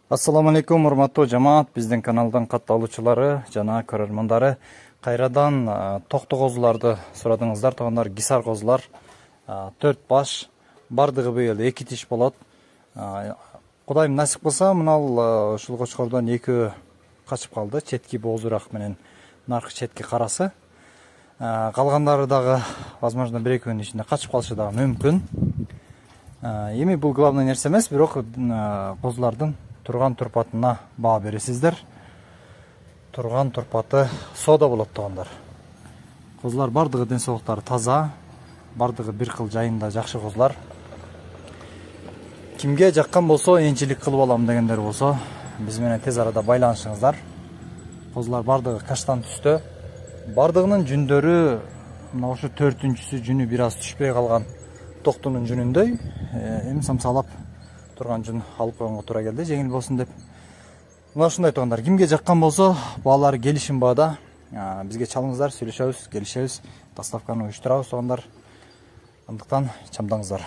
Ассаламу алейкум, урматтуу жамаат, биздин каналдын катталуучулары жана көрөрмандары. Кайрадан токтогозуларды сурадыңыздар, туугандар. Гисар козулар 4 баш, бардыгы быйыл 2 тиш болот. Кудайым насип кылса, мынал ушул кочкордон 2 качып калды, четки боозураак менен наркы четки карасы. Калгандары дагы возможно 1-2 күнүн ичинде качып калышы дагы мүмкүн. Эми бул главный нерсе эмес, бирок козулардын турган турпатына баа бересиздер. Турган турпаты сода болот туугандар. Козулар бардыгы ден соолуктары таза, бардыгы бир кыл жайында жакшы козулар. Кимге жаккан болсо, энчилик кылып алам дегендер болсо, биз менен тез арада байланышыңыздар. Козулар бардыгы каштан түстө. Бардыгынын жүндөрү мына ошо 4-үнчүсү жүнү бир аз түшпөй калган токтунун жүнүндөй. Эми самсалап турган жүн алып койгонго туура келди, жеңил болсун деп. Мына ушундай туугандар, кимге жаккан болсо, баалары келишим баада бизге чалыңыздар, сүйлөшөбүз, келишебиз, доставканы уюштурабыз туугандар. Андыктан чамдаңыздар.